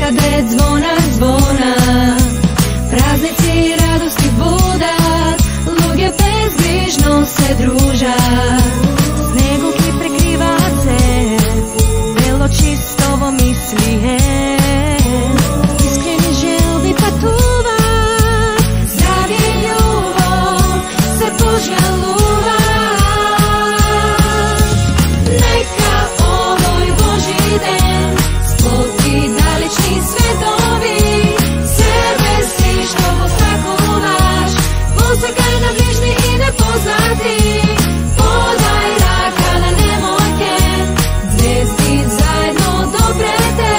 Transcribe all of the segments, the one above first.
секаде звона, звона. Празници радости будат, луѓе безгрижно се дружат. Снегуки прекриваат се, бело чисто во мислие. Искрени желби патуваат, здравје и љубов се пожалуваат. Нека овој Божи ден сплоти далечни светови, себе си што посакуваш, посакај на ближни и непознати. Подај рака на немојке, звезди заедно допрете,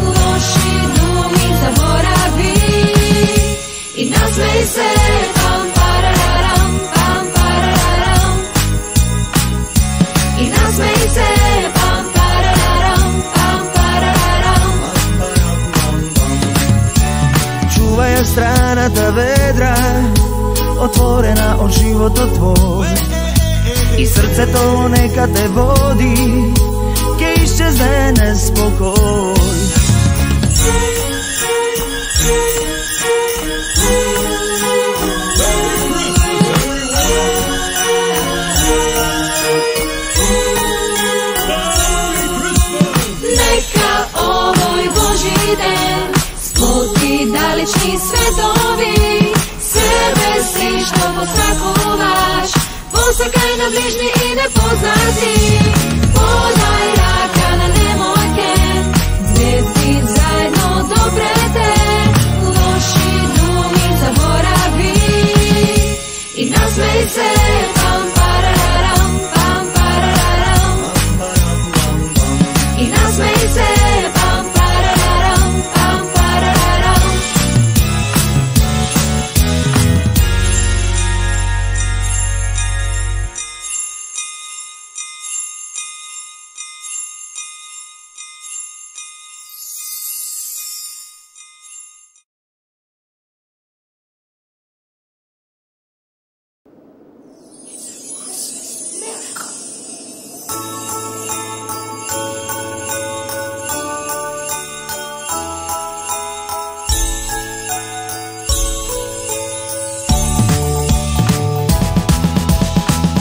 лоши думи заборави и насмеј се. Пам парарарам, пам парарарам, и насмеј се. Пам парарарам, пам парарарам. Чувај ја страната ведра, отворена од животот твој, и срцето нека те води, ке исчезне неспокој. Нека овој Божи ден сплоти далечни светови, себе си што посакуваш, посакај на ближни и непознати. Подај рака на немојке, звезди заедно допрете, лоши думи заборави и насмеј се. Пам парарарам, пам парарарам, и насмеј се. Пам парарарам, пам парарарам.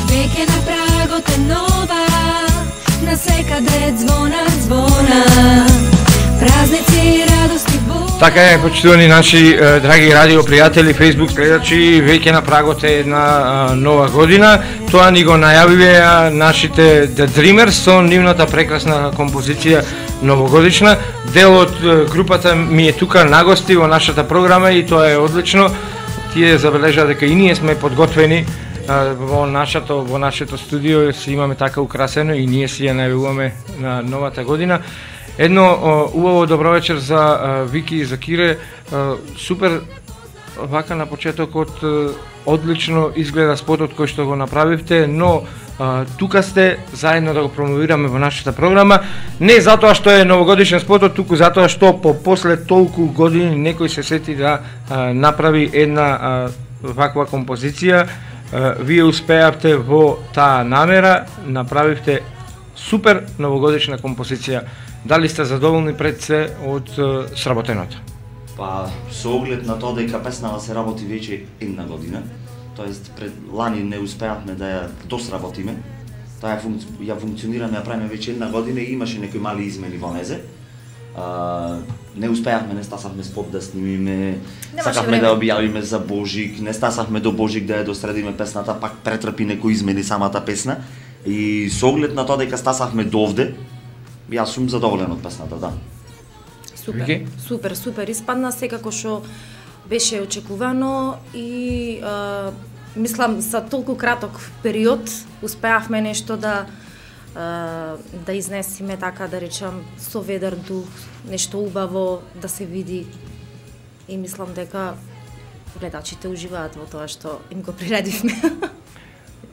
Веќе на прагот е нова, насекаде звона, звона. Празници радости будат. Така е, почитувани наши драги радио пријатели, Facebook гледачи, веќе на прагот е една нова година. Тоа ни го најавиве нашите The Dreamers со нивната прекрасна композиција новогодишна. Дел од групата ми е тука на гости во нашата програма и тоа е одлично. Тие забележаа дека и ние сме подготвени во нашето студио, си имаме така украсено и ние си ја најавуваме на новата година. Едно убаво добро вечер за Вики и за Кире. Супер вака на почетокот, одлично изгледа спотот кој што го направивте, но тука сте заедно да го промовираме во нашата програма. Не затоа што е новогодишен спотот, туку затоа што после толку години некој се сети да направи една ваква композиција. Вие успеавте во таа намера, направивте супер новогодишна композиција. Дали сте задоволни пред се од сработеното? Па, со оглед на тоа дека песнава се работи веќе една година, тоест пред лани не успеавме да ја досработиме, таа ја функционираме, ја правиме веќе една година и имаше некои мали измени во незе. Не успеавме, не стасавме спот да снимиме, сакавме да објавиме за Божик, не стасавме до Божик да ја досредиме песната, пак претрпи некои измени самата песна. И со оглед на тоа дека стасавме до овде, јас сум задоволен од песната, да. Супер, супер, супер. Испадна секако што беше очекувано и мислам за толку краток период успеавме нешто да изнесиме, така да речам, со ведар дух, нешто убаво да се види и мислам дека гледачите уживаат во тоа што им го приредивме.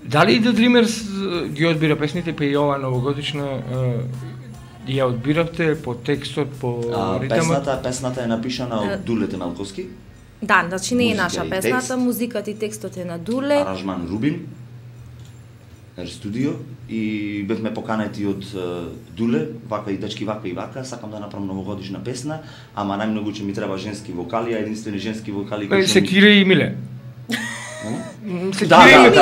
Дали The Dreamers ги одбира песните, па и ова новогодишна ја одбиравте по текстот, по ритмот? Песната е напишана од Дуле Темелковски. Да, значи не е наша песната, музиката и текстот е на Дуле. Аранжман Рубин. студио и бевме поканети од Дуле, вака и дечки, вака и вака, сакам да направам новогодишна песна, ама најмногу ќе ми треба женски вокали, а единствени женски вокали кои Се Кире и Миле. Се Да, Кире и Миле.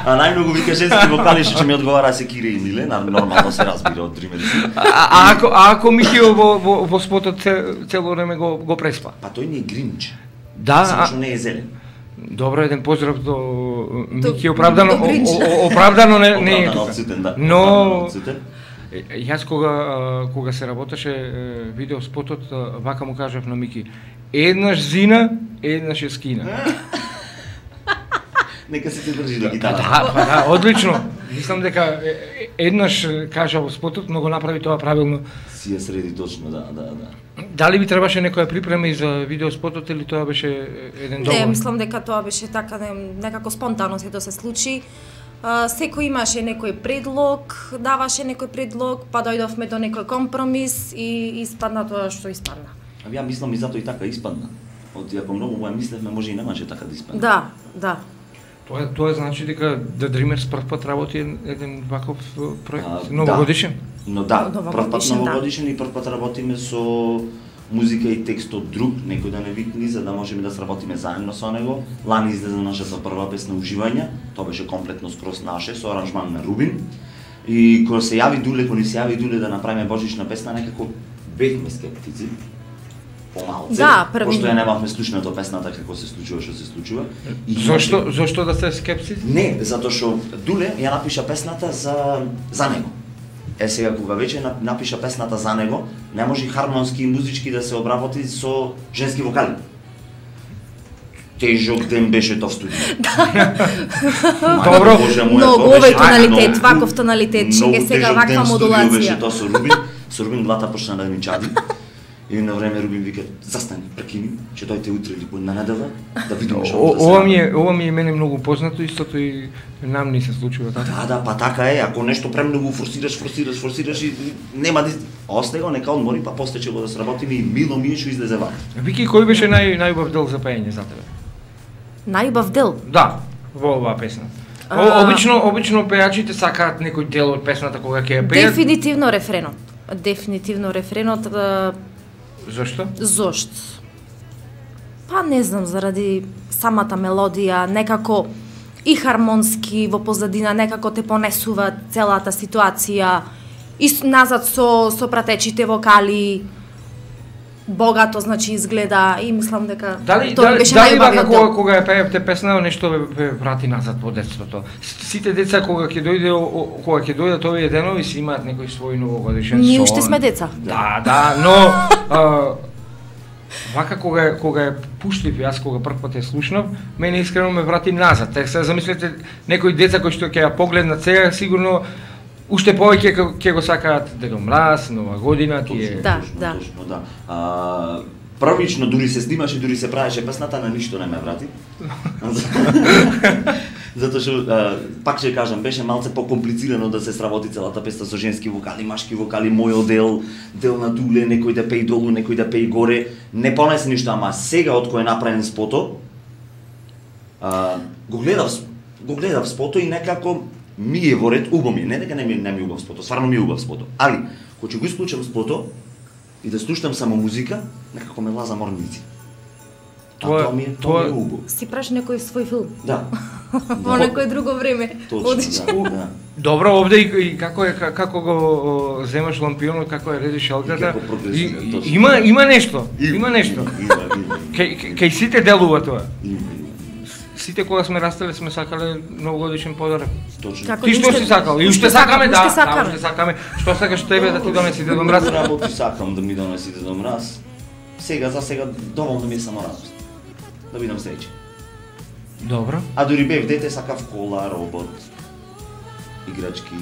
А најмногу вика женски вокали што ќе ми одговара се Кире и Миле, нормално се разбира од Dreamers. А ако Михио во спотот цело време го преспа? Па тој не е Гринч. Да, само што не е зелен. Добро, еден поздрав до Мики, До оправдано Гринч. оправдано не е Оправдано тука. одсутен, да. Но Оправдано одсутен. Јас кога се работеше видео спотот, вака му кажав на Мики, еднаш зина, еднаш е скина. Нека се држи до Па гитара. да, одлично. Мислам дека еднаш кажа во спотот, но го направи тоа правилно. Си ја среди точно, да. Дали би требаше некоја припрема и за видео спотот или тоа беше еден Не, договор? мислам дека тоа беше така некако спонтано сето се случи. Секој имаше некој предлог, даваше некој предлог, па дојдовме до некој компромис и испадна тоа што испадна. Ја мислам и затоа и така испадна. Од иако многу му ја мислевме, може и немаше така да испадне. Да. Тоа значи дека The Dreamers прв пат работи еден ваков проект новогодишен. Но да, Новогодишен, прв пат да. новогодишен и прв пат работиме со музика и текст од друг, некој да не викни, за да можеме да сработиме заедно со него. Лани излезе нашата прва песна Уживање, тоа беше комплетно скроз наше, со аранжман на Рубин. И кога се јави Дуле, кога ни се јави Дуле да направиме божична песна, некако бевме скептици. Помалце, Да, први- пошто ја немавме слушнато песната како се случува што се случува. И Зошто да сте скепци? Не, затоа што Дуле ја напиша песната за него. Сега кога веќе напиша песната за него, не може хармонски и музички да се обработи со женски вокали. Тежок ден беше тоа в студио. Добро. Многу овој тоналитет, ваков тоналитет, чеке сега ваква модулација. Беше тоа со Рубин глата почна да ми чади. И на време Рубин вика, застани, прекини, ќе дојде утре или на недела, да видиме што да се прави. Ова ми е мене многу познато, истото и нам ни се случува така. Да, па така е, ако нешто премногу форсираш и нема да остај го, нека одмори, па после ќе го да сработиме и мило ми е што излезе вака. Вики, кој беше најубав дел за пеење за тебе? Најубав дел. Да, во оваа песна. Обично пејачите сакаат некој дел од песната кога ќе ја пеат. Дефинитивно рефренот. Зошто? Зошто? Па не знам, заради самата мелодија, некако и хармонски во позадина, некако те понесува целата ситуација, и назад со пратечите вокали, богато значи изгледа и мислам дека тоа беше дали најубавиот дел. кога ја пеевте песна нешто ве врати назад во детството? Сите деца кога ќе дојдат овие денови си имаат некој свој новогодишен сон. Ние уште сме деца. Да, но вака кога ја пуштив, јас кога прв пат ја слушнав, мене искрено ме врати назад. Така се замислете некои деца кои што ќе ја погледнат сега, сигурно уште повеќе ќе го сакаат Дедо Мраз, Нова година, тие. Да. Точно, да. Првично дури се снимаше, дури се правеше песната, на ништо не ме врати. Затоа што пак ќе кажам, беше малце покомплицирано да се сработи целата песна со женски вокали, машки вокали, мојот дел на Дуле, некој да пее долу, некој да пее горе. Не понесе ништо, ама сега од кој е направен спото, го гледав спото и некако ми е во ред, убаво ми е, не дека не ми е убав спото, стварно ми е убав спото. Али, кога ќе го исклучам спото и да слушам само музика, некако ме лаза морници. Тоа ми е убаво. Си праш некој свој филм. Да. Во некој друго време. Точно, да. Добро, овде и како го земаш лампионот, како ја редиш шалката, има нешто, има нешто. Кај сите делува тоа. Сите кога сме растеле сме сакале новогодишен подарок. Точно. Ти што си сакал? И уште сакаме, да, уште сакаме. Што сакаш тебе да ти донеси Дедо Мраз? Работи сакам да ми донеси Дедо Мраз. За сега доволно ми е само радост. Да бидам среќен. Добро. А дури бев дете, сакав кола, робот, играчки.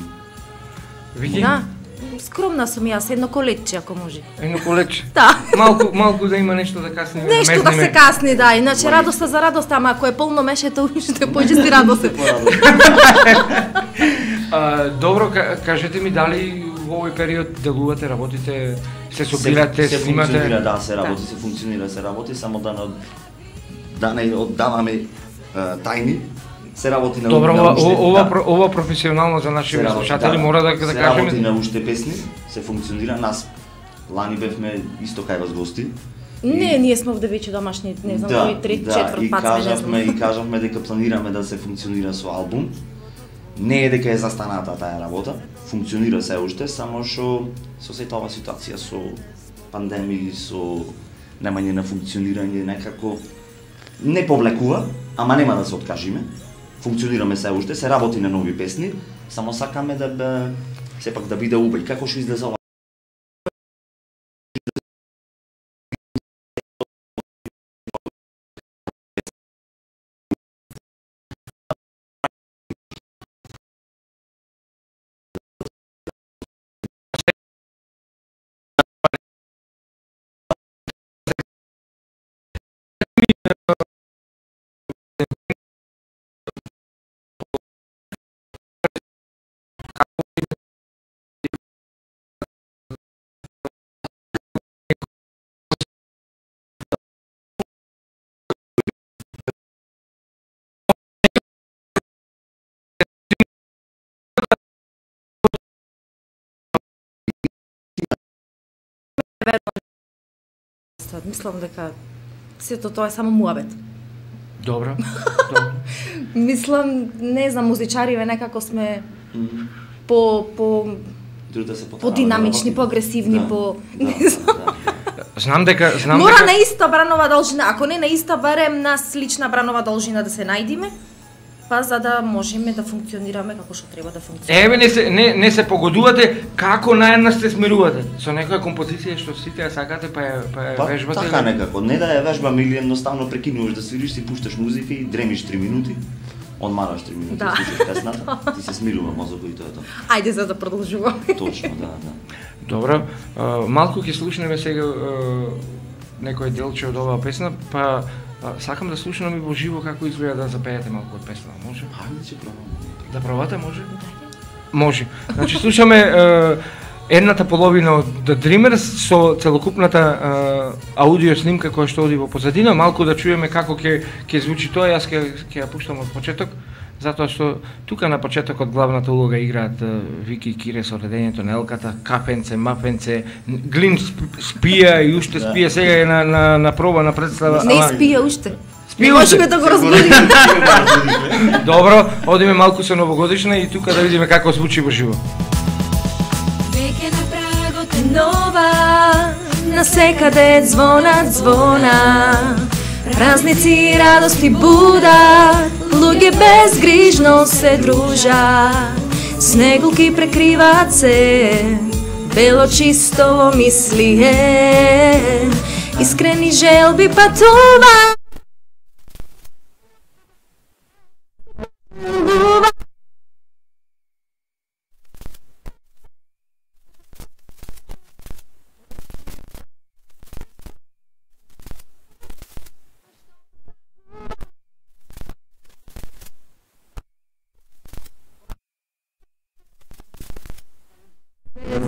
Види? Да. Скромна сум јас, едно колече ако може. Едно колече. Да. Малку да има нешто да касни. Нешто да се касни, да. Иначе радоста за радоста, ама ако е полно мешето, уште поќе си радост. Добро, кажете ми дали во овој период делувате, работите, се собирате, се снимате? Функционира, да, се работи, се функционира, се работи, само да не оддаваме тајни. се работи на Добро, на уште, ова професионално за нашите се работи, слушатели мора да се кажеме. работи на уште песни, се функционира. Нас лани бевме исто кај вас гости. Не, ние сме овде веќе домашни, не знам кој трет, четврт пат сме, не знам. И кажавме дека планираме да се функционира со албум. Не е дека е застаната таа работа, функционира се уште, само што со сета ова ситуација, со пандемија, со немање на функционирање, некако не повлекува, ама нема да се откажиме. Функционираме се уште, се работи на нови песни, само сакаме да сепак да биде убај. Како што излезе ова? Мислам дека сето тоа е само муабет. Добро. Мислам, не знам, музичариве некако сме по Да се подинамични, поагресивни, по не знам. Знам дека Мора на иста бранова должина, ако не на иста, барем на слична бранова должина да се најдиме, па за да можеме да функционираме како што треба да функционираме. Еве не се погодувате како наедна сте смирувате со некоја композиција што сите ја сакате па ја вежбате. Така некако, не да ја вежбаме или едноставно прекинуваш да свириш, си пушташ музика и дремиш 3 минути. Одмараш 3 минути, Да. слушаш песната, ти се смирува мозокот и тоа е тоа. Ајде за да продолжуваме. Точно, да. Добро, малку ќе слушнеме сега некој делче од оваа песна, па сакам да слушнам и во живо како изгледа да запеете малку од песна, може? Хајде ќе пробаме. Да пробате, може? Може. Значи слушаме едната половина од The Dreamers со целокупната аудио снимка која што оди во позадина, малку да чуеме како ќе звучи тоа, јас ќе ја пуштам од почеток, затоа што тука на почетокот главната улога играат Вики и Кире со редењето на елката, кафенце, мафенце, Глин спија и уште спија, сега е на проба на представа. Не испија уште. Спија Не можеме да го разбудиме. Добро, одиме малку со новогодишна и тука да видиме како звучи во живо. Веќе на прагот е Нова, насекаде звона, празници радости будат, луѓе безгрижно се дружат, снегулки прекриваат се, бело чисто во мислие, искрени желби патуваат.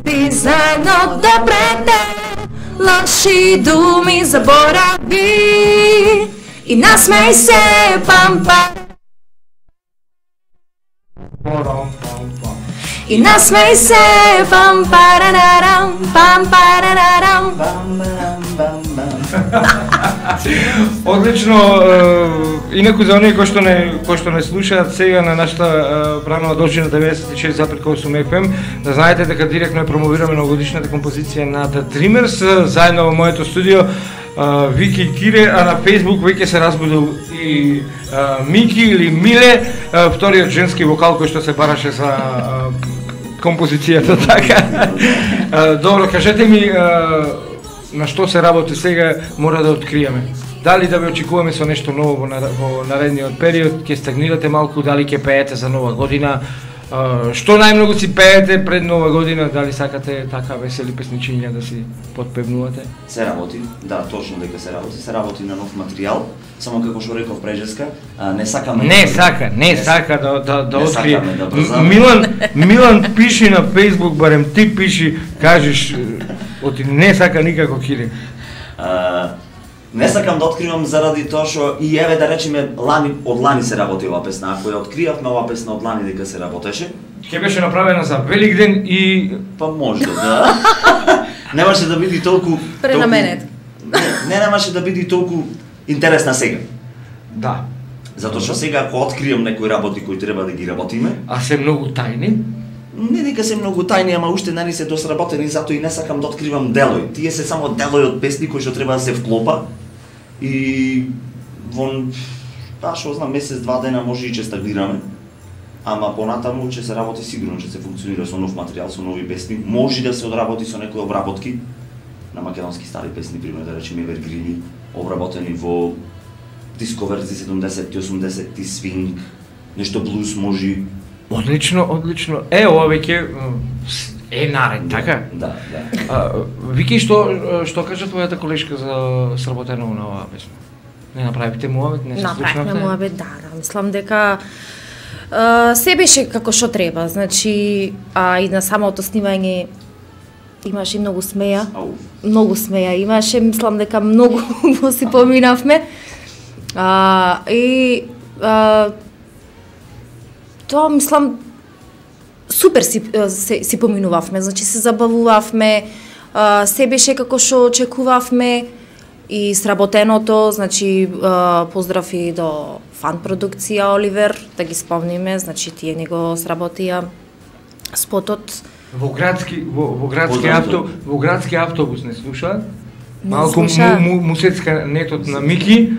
Ти заедно добрете, лоши думи заборави и насмеј се, пампа. И насмеј се, пампаранарам, пампаранарам. Одлично, инаку за оние кои што не слушаат сега на нашата бранова должина 96,8 FM, да знаете дека директно ја промовираме новогодишната композиција на The Dreamers заедно во моето студио Вики и Кире, а на Facebook веќе се разбудил и Мики или Миле, вториот женски вокал кој што се бараше за композицијата, така. Добро, кажете ми на што се работи сега, мора да откриеме. Дали да ве очекуваме со нешто ново во наредниот период, ќе стагнирате малку, дали ќе пеете за нова година, што најмногу си пеете пред нова година, дали сакате така весели песничиња да си подпевнувате? Се работи, да, точно дека се работи на нов материјал, само како што реков прежеска, не сакаме... Не сака да открие. Да Милан пиши на Facebook, барем ти пиши, кажеш, не сака никако Кире. Не сакам да откривам заради тоа што и еве да речеме од лани се работи оваа песна. Ако ја откриавме оваа песна од лани дека се работеше, Ќе беше направена за Великден и па може да. Немаше да биде толку Пренаменет. Не немаше да биде толку интересна сега. да. Затоа што сега ако откриам некои работи кои треба да ги работиме, А се многу тајни. не дека се многу тајни, ама уште не се досработени, затоа и не сакам да откривам делои. Тие се само делои од песни кои што треба да се вклопа и вон што знам месец-два дена може и ќе стагнираме. Ама понатаму ќе се работи сигурно, ќе се функционира со нов материјал, со нови песни. Може да се одработи со некои обработки на македонски стари песни, пример да речеме Евергрини, обработени во диско верзии 70-ти, 80-ти, свинг, нешто блуз може. Одлично, одлично. Ова веќе наред, така? Да. Вики, што кажа твојата колешка за сработено на оваа песна? Не направивте муавет, не се Направивме слушнавте? муабет, да. Мислам дека се беше како што треба, значи и на самото снимање имаше многу смеја. Ау. Многу смеја имаше, мислам дека многу го си поминавме. Тоа мислам супер си поминувавме, значи се забавувавме, се беше како што очекувавме и сработеното, значи поздрав и до фан продукција Оливер, да ги спомниме, значи тие не го сработија спотот. Во градски автобус не слуша? Не Малку слуша. му сецка нетот на Мики.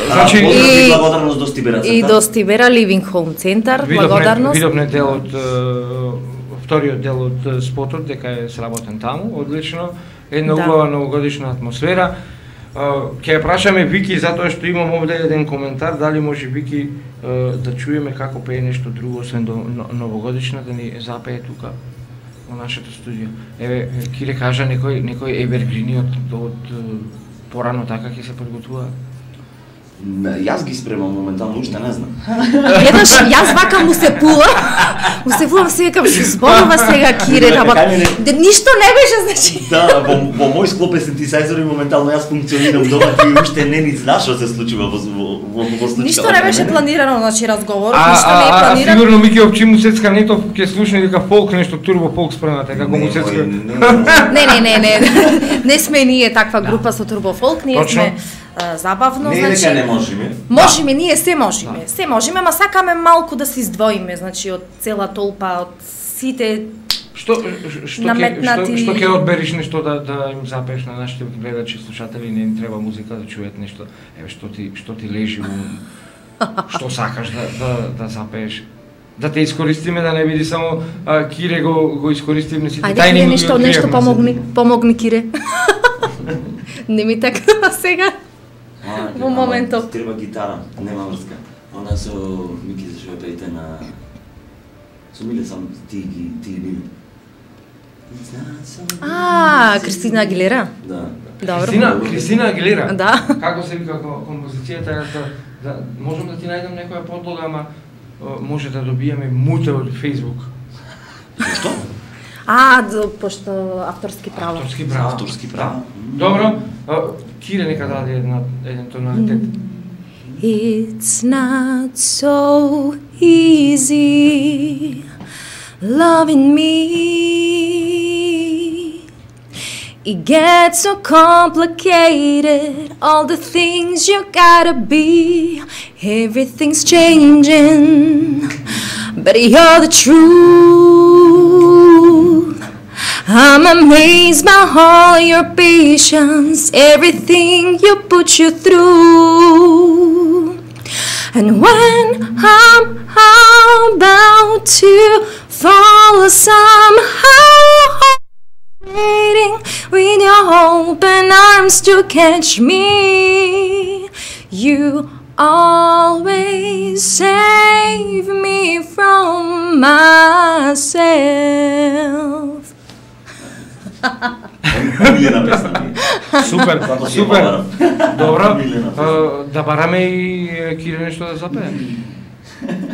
Значи И- благодарност до Стибера. И до Стибера Living Home Центар, благодарност. Видовме дел од вториот дел од спотот дека е сработен таму, одлично. Една Да. убава новогодишна атмосфера. Ќе ја прашаме Вики затоа што имам овде еден коментар, дали може Вики да чуеме како пее нешто друго освен до новогодишна да ни запее тука во нашето студио. Еве Кире кажа некој евергрини од порано така ќе се подготвуваат. Јас ги спремам моментално, уште не знам. Гледаш, јас вака му се пулам се викам што зборува сега Кире, ама ништо не беше, значи. Да, во мој склоп синтесайзер и моментално јас функционирам дома и уште не ни знаеш што се случува во случајот. Ништо не беше планирано, значи разговор, ништо не е А планирано. сигурно Мики Овчи му сецка нетов ќе слушне дека фолк нешто турбо фолк спремате како му сецка. Не. Не сме ние таква група со турбофолк, ние Точно. сме забавно, Не дека не значи. можеме. Можеме, ние се можеме. Се можеме, ама сакаме малку да се издвоиме, значи од цела толпа, од сите. Што Наметнати- што ќе одбериш нешто да им запееш на нашите гледачи, слушатели, не им треба музика да чујат нешто. Еве што ти лежи што сакаш да запееш. Да те искористиме, да не биде само Кире го искористиме сите Ајде тајни Кире, го нешто откриевме. помогни Кире. Не ми така сега. Во моментов. Треба гитара, нема врска. Она со Мики зашо ја пеете на со Миле сам ти Миле. Кристина Агилера. Да. Добро. Кристина Агилера. Да. Како се вика композицијата, да можам да ти најдам некоја подлога, ама може да добиеме муте од Facebook. Што? Пошто авторски право. Авторски права. Авторски права. Добро, Кире нека даде еден тоналитет. It's not so easy loving me. It gets so complicated, all the things you gotta be. Everything's changing, but you're the truth. I'm amazed by all your patience, everything you put you through. And when I'm about to fall somehow, waiting with your open arms to catch me, you always save me from myself. Милена песна ми. Супер, Како си супер. ја Добро, Милена да бараме и Кире нешто да запее.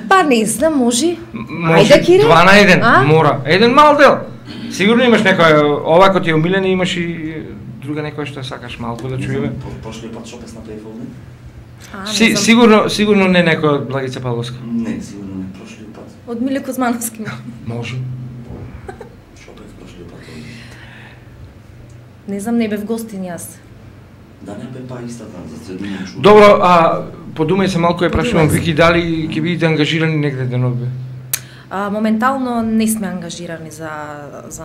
Па не знам, може. Може Ајде, Кире. 2 на 1, А? мора. Еден мал дел. Сигурно имаш некоја, ова кој ти е омилена, имаш и друга некоја што сакаш малку да чуеме. Прошлиот пат што песна пеев овде? Сигурно не некоја од Благица Павловска. Не, сигурно не, прошлиот пат. Од Миле Кузмановски. Може. Што пеев прошлиот пат овде? Не знам, не бев гостин јас. Да не бе па истата, за средина чува. Добро, подумај се малку, ја прашувам Вики, дали ќе бидете ангажирани негде денове? Моментално не сме ангажирани за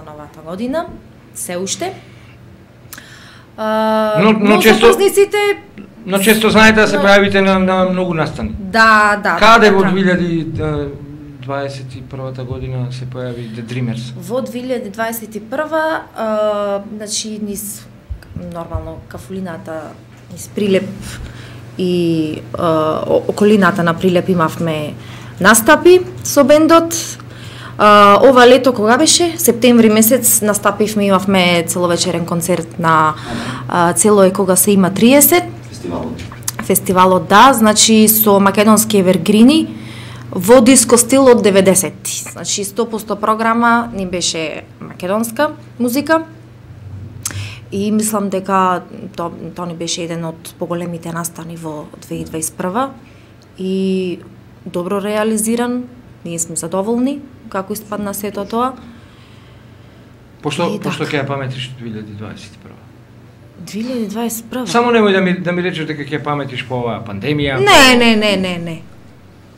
новата година, се уште. Но често знаете да се појавите на многу настани. Да. Каде во така. 2021 година се појави The Dreamers? Во 2021 значи низ нормално кафулината, низ Прилеп и околината на Прилеп имавме настапи со бендот. Ова лето кога беше? Септември месец настапивме, имавме целовечерен концерт на Цело е кога се има 30. Фестивалот, да, значи со македонски евергрини во диско стил од 90-ти. Значи 100% програма ни беше македонска музика. И мислам дека тоа ни беше еден од поголемите настани во 2021 и добро реализиран. Ние сме задоволни како испадна сето тоа. Пошто ќе ја паметиш 2021? 2021? Само немој да ми речеш дека ќе ја паметиш по оваа пандемија. Не.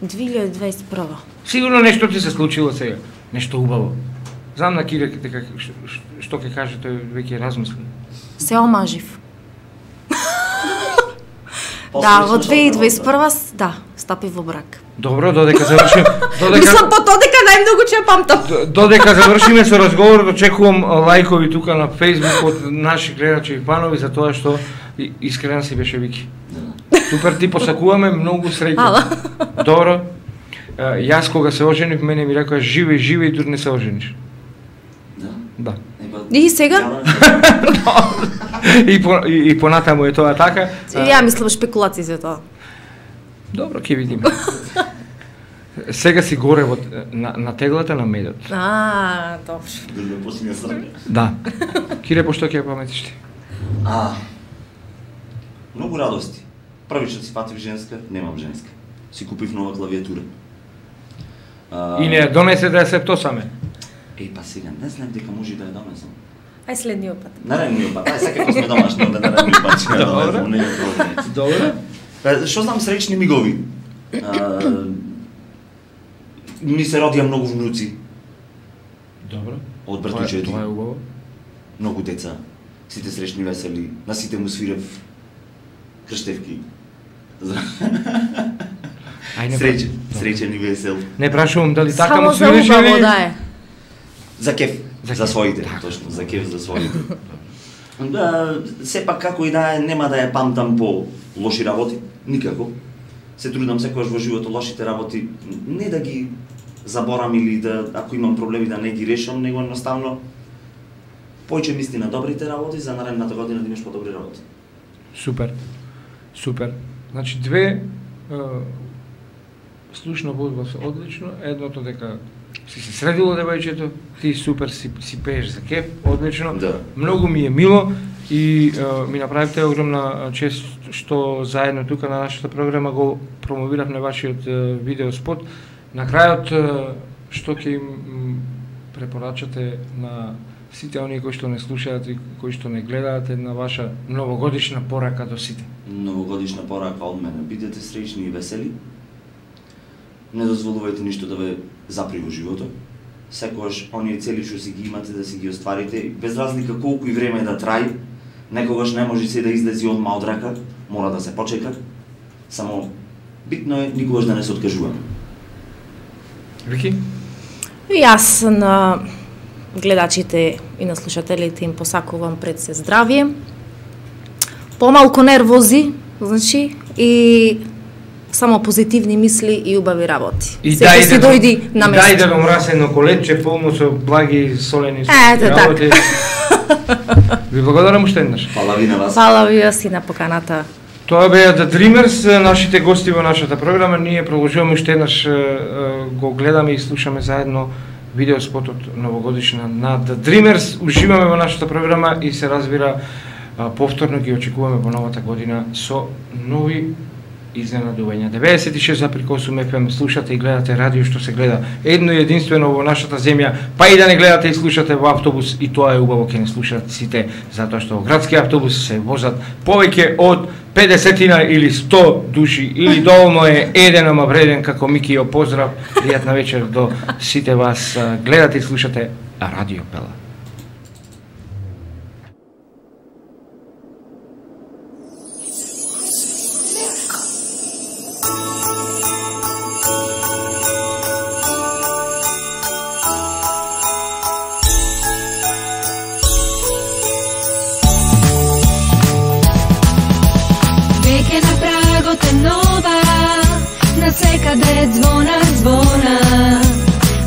2021. Сигурно нешто ти се случило сега, нешто убаво. Знам на Кире дека што ќе каже, тој веќе размисли. Се омажив. Да, во 2021 да, стапив во брак. Добро, додека завршим. Мислам по тоа дека најмногу ќе ја памтам. Додека завршиме со разговорот, очекувам лајкови тука на Facebook од наши гледачи и фанови за тоа што искрена си беше Вики. Супер, ти посакуваме многу среќа. Добро. Јас кога се оженив, мене ми рекоа живе и дури не се ожениш. Да. И сега? И понатаму е тоа така. Ја мислам шпекулации за тоа. Добро, ќе видиме. Сега си горе на теглата на медот. Добро. Да. Кире, пошто ќе ја паметиш ти? Многу радости. Првично си фатив женска, немам женска. Си купив нова клавиатура. И не донесе да ја септосаме. Па сега, не знам дека може да ја донесам. Ај следниот пат. Наредниот пат, секако сме домашни, onda наредниот пат ќе ја донесам, не е проблем. Добро. Што знам среќни мигови? Ми се родија многу внуци. Добро. Од братучети. Тоа е убаво. Многу деца. Сите среќни весели, на сите му свирев крштевки. Среќен и весел. Не прашувам дали така му свириш или... Само за убаво, да е. За кеф, за своите, точно, за кеф за своите. Сепак како и да е, нема да ја памтам по лоши работи, никако. Се трудам секогаш во животот лошите работи не да ги заборам или да, ако имам проблеми да не ги решам, него едноставно појче мисли на добрите работи за наредната година да имаш подобри работи. Супер. Значи две слушно водба се одлично, едното дека си се средило девојчето, ти супер си пееш за кеф, одлично. Да. Многу ми е мило и ми направивте огромна чест што заедно тука на нашата програма го промовиравме вашиот видеоспот. На крајот што ќе им препорачате на сите оние кои што не слушаат и кои што не гледаат една ваша новогодишна порака до сите? Новогодишна порака од мене. Бидете среќни и весели. Не дозволувајте ништо да ве запри во животот. Секогаш оние цели што си ги имате да си ги остварите, без разлика колку и време да траи, некогаш не може се да излези одма од рака, мора да се почека. Само битно е никогаш да не се откажуваме. Вики? И јас на гледачите и на слушателите им посакувам пред се здравие, помалку нервози, значи, и само позитивни мисли и убави работи. И секој си дојди на место. Дај да го мрасе едно колече полно со благи солени работи. Ви благодарам уште еднаш. Фала ви на вас. Фала ви и на поканата. Тоа беа The Dreamers, нашите гости во нашата програма. Ние продолжуваме уште еднаш го гледаме и слушаме заедно видеоспотот новогодишна на The Dreamers. Уживаме во нашата програма и се разбира повторно ги очекуваме во новата година со нови изненадувања. 96,8 FM слушате и гледате радио што се гледа едно и единствено во нашата земја, па и да не гледате и слушате во автобус, и тоа е убаво ќе не слушате сите, затоа што во градски автобус се возат повеќе од 50 или 100 души, или доволно е еден, ама вреден, како Микио. Поздрав, пријатна вечер до сите вас. Гледате и слушате Радио Пела. Секаде звона,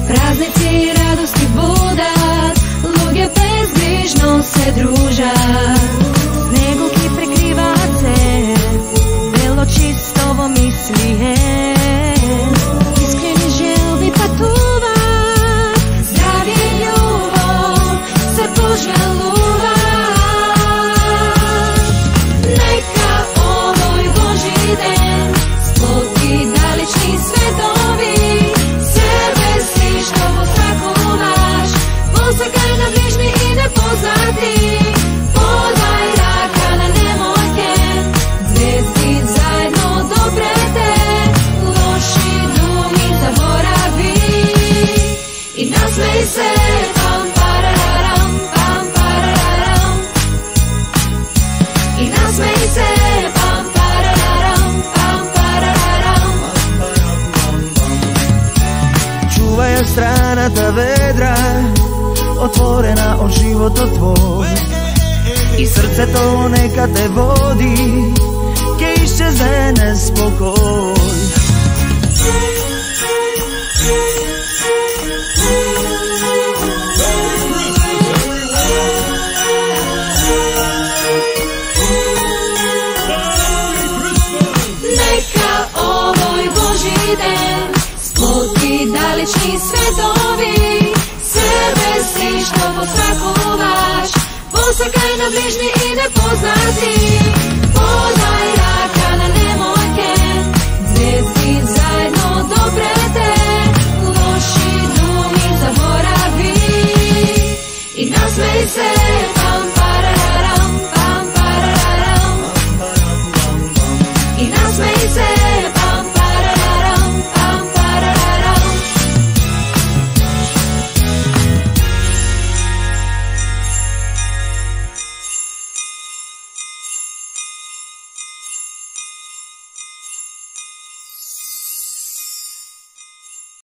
празници и радости будат, луѓе безгрижно се дружат. Снегу ги прекриваат се, бело чисто во мисли е. Искрени желби патуваат, здравје и љубов се пожалуваат. Нека овој Божи ден сплоти далечни светови, себе си што го сакуваш, посекај на ближни и непознати, подај рака на немојке, звезди заедно допрете, лоши думи заборави и насмеј се. Пам парарарам, пам парарарам, и насмеј се. Чувај ја страната ведра, отворена од животот твој, и срцето нека те води, ке исчезне неспокој. Нека овој Божи ден сплоти далечни светови, себе си што го сакуваш, посекај на ближни и непознати, подај рака на немојке, звезди заедно допрете, лоши думи заборави и насмеј се.